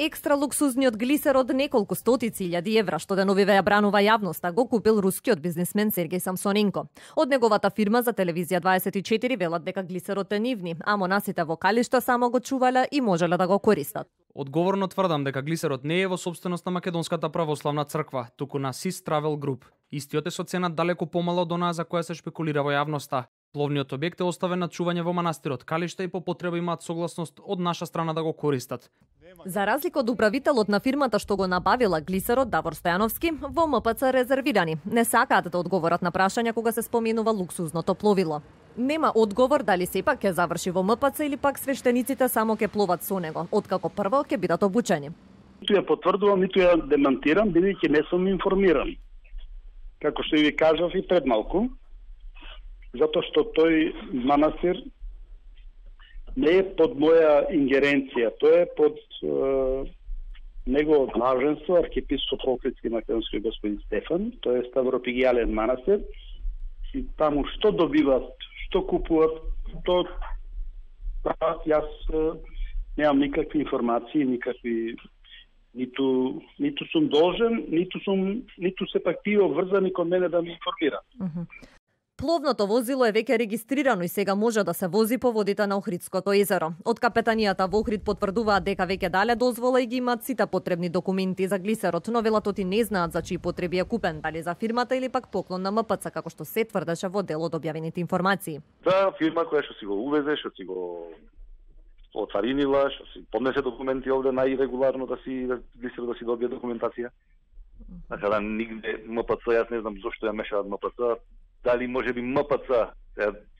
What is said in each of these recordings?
Екстра луксузниот глисер од неколку стотици илјади евра, што деновиве ја бранува јавноста, го купил рускиот бизнисмен Сергеј Самсоненко. Од неговата фирма за телевизија 24 велат дека глисерот е нивни, а монасите во калишта само го чувале и можеле да го користат. Одговорно тврдам дека глисерот не е во собственост на Македонската православна црква, туку на SIS Travel Group. Истиот е со цена далеку помала од онаа за која се шпекулира во јавноста. Пловниот објект е оставен на чување во манастирот калишта и по потреба имаат согласност од наша страна да го користат. За разлика од управителот на фирмата што го набавила глисерот Давор Стојановски, во МПЦ резервирани. Не сакаат да одговорат на прашања кога се споменува луксузното пловило. Нема одговор дали сепак ќе заврши во МПЦ или пак свештениците само ќе пловат со него, откако прво ќе бидат обучени. Ниту ја потврдувам, ниту ја демантирам, бидејќи не сум информиран. Како што ви кажав и пред малку, затоа што тој манастир не е под моја ингеренција, тој е под негово главенство, архиепископ Охридски македонски господин Стефан, тој е ставропигијален манастир, и таму што добиват, што купуват, то јас немам никакви информации, никакви ниту сум должен, ниту се пак тие обврзани кон мене да ме информираат. Пловното возило е веќе регистрирано и сега може да се вози по водите на Охридското езеро. Од капетанијата во Охрид потврдуваат дека веќе дале дозвола и ги имаат сите потребни документи за глисерот, но велат оти не знаат за чии потреби е купен, дали за фирмата или пак поклон на МПЦ, како што се тврдеше во дел од објавените информации. За фирма која што си го увезе, што си го оцаринила, што си поднесе документи овде најрегуларно да си глисер да си добие документација. Така да нигде МПЦ, јас не знам зошто ја мешаат МПЦ. Дали може би МПЦ,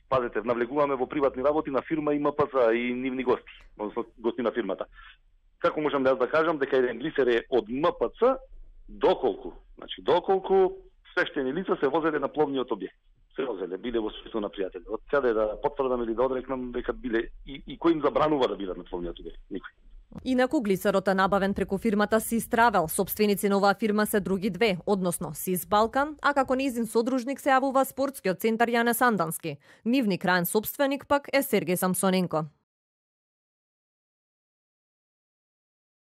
пазете, навлегуваме во приватни работи на фирма и МПЦ и нивни гости, односно гости на фирмата. Како можам да кажам дека еден глисер е од МПЦ доколку свештени лица се возеле на пловниот објект. Се возеле, биле во свество на пријатели. Од сега да потврдам или да одрекнам дека биле и кој им забранува да бидат на пловниот објект? Никој. Инаку глисерот е набавен преку фирмата SIS Travel. Собственици на оваа фирма се други две, односно SIS Балкан, а како нејзин содружник се јавува спортскиот центар Јане Сандански. Нивни краен собственик пак е Сергеј Самсоненко.